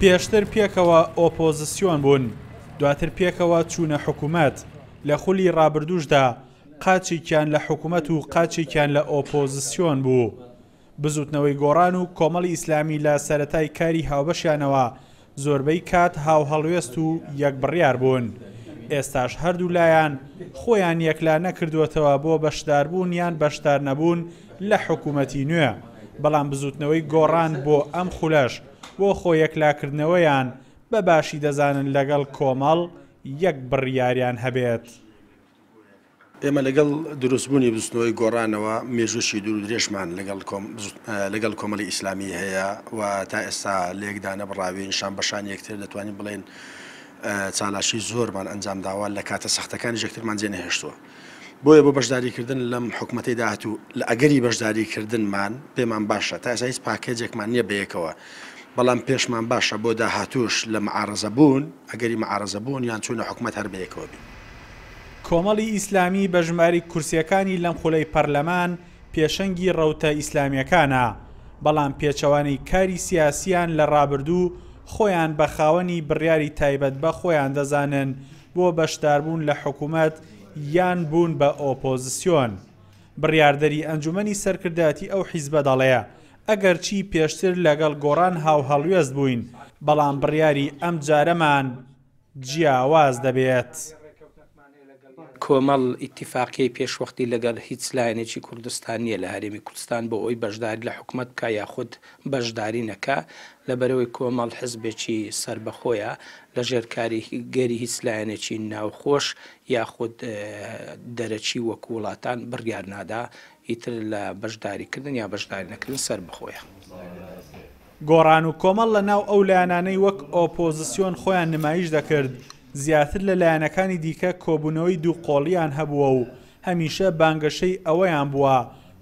پێشتر پێکەوە ئۆپۆزسیۆن بوون، دواتر پێکەوە چوونە حکومەت، لە خولی ڕابردووشدا قاچێکیان لە حکومەت و قاچێکیان لە ئۆپۆزسیۆن بوو. بزوتنەوەی گۆڕان و کۆمەڵی ئیسلامی لە سەرەتای کاری هاوبەشیانەوە زۆربەی کات هاوهەڵوێست و یەک بڕیار بوون. ئێستاش هەردوولایان خۆیان یەکلا نەکردووەتەوە بۆ بەشداربوون یان بەشدارنەبوون لە حکومەتی نوێ، بەڵام بزوتنەوەی گۆڕان بۆ ئەم خولەش بۆ خۆ یەکلاکردنەوەیان بە باشی دەزانن لەگەڵ کۆمەڵ یەک بڕیاریان هەبێت. ئێمە لەگەڵ دروستبوونی بزوتنەوەی گۆڕانەوە مێژووشی دوور و درێژمان لەگەڵ لەگەڵ کۆمەڵی ئیسلامی هەیە و تا ئێستا لێک دانەبڕاوین، شان بە شانی یەکتر دەتوانین بڵێین چالاکی زۆرمان ئەنجام داوە، لە کاتە سەختەکانیش یەکترمان جێ نەهێشتووە. بۆیە بۆ بەشداریکردن لەم حکومەتەی داهاتوو لە ئەگەری بەشداریکردنمان پێمان باشە، تا ئێستا هیچ پاکێجێکمان نییە بەیەکەوە، بەڵام پێشمان باشە بۆ داهاتووش لە معارەزە بوون، ئەگەری معارەزە بوون یان چوونە حکومەت هەر بەیەکەوە بین. کۆمەڵی ئیسلامی بە ژمارەی کورسییەکانی لەم خولەی پەرلەمان پێشەنگی ڕەوتە ئیسلامییەکانە، بەڵام پێچەوانەی کاری سیاسییان لە ڕابردوو خۆیان بە خاوەنی بڕیاری تایبەت بە خۆیان دەزانن بۆ بەشداربوون لە حکومەت یان بوون بە ئۆپۆزسیۆن. بڕیاردەری ئەنجومەنی سەرکردایەتی ئەو حیزبە دەڵێ، ئەگەرچی پێشتر لەگەڵ گۆڕان هاوهەڵوێست بووین، بەڵام بڕیاری ئەمجارەمان جیاواز دەبێت. کۆمەڵ ئیتیفاقیەی پێشوەختی لەگەڵ هیچ لایەنێکی کوردستان نیە لە هەرێمی کوردستان بۆ ئەوەی بەشداری لە حکومەت بکا یاخود بەشداری نەکا، لەبەرئەوەی کۆمەڵ حزبێکی سەربەخۆیە لەژێر کاریگەری هیچ لایەنێکی ناوخۆش یاخود دەرەکی وەکو وڵاتان بڕیار نادا، ئیتر لە بەشداریکردن یا بەشداری نەکردن سەربەخۆیە. گۆڕان و کۆمەڵ لە ناو ئەو لایەنانەی وەک ئۆپۆزسیۆن خۆیان نمایش دەکرد، زیاتر لە لایەنەکانی دیکە کۆبوونەوەی دووقۆڵییان هەبووە و هەمیشە بانگەشەی ئەوەیان بووە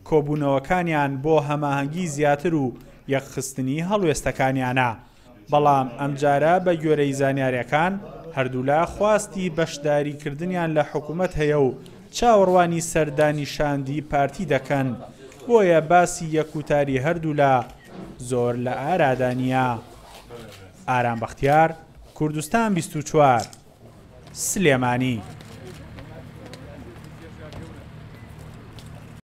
کۆبوونەوەکانیان بۆ هەماهەنگی زیاتر و یەکخستنی هەڵوێستەکانیانە. بەڵام ئەمجارە بە گوێرەی زانیارییەکان هەردوولا خواستی بەشداریکردنیان لە حکومەت هەیە و چاوەڕوانی سەردانی شاندی پارتی دەکەن، بۆیە باسی یەکوتاری هەردوولا زۆر لە ئارادا نییە. ئارام بەختیار، کوردستان 24، سلێمانی.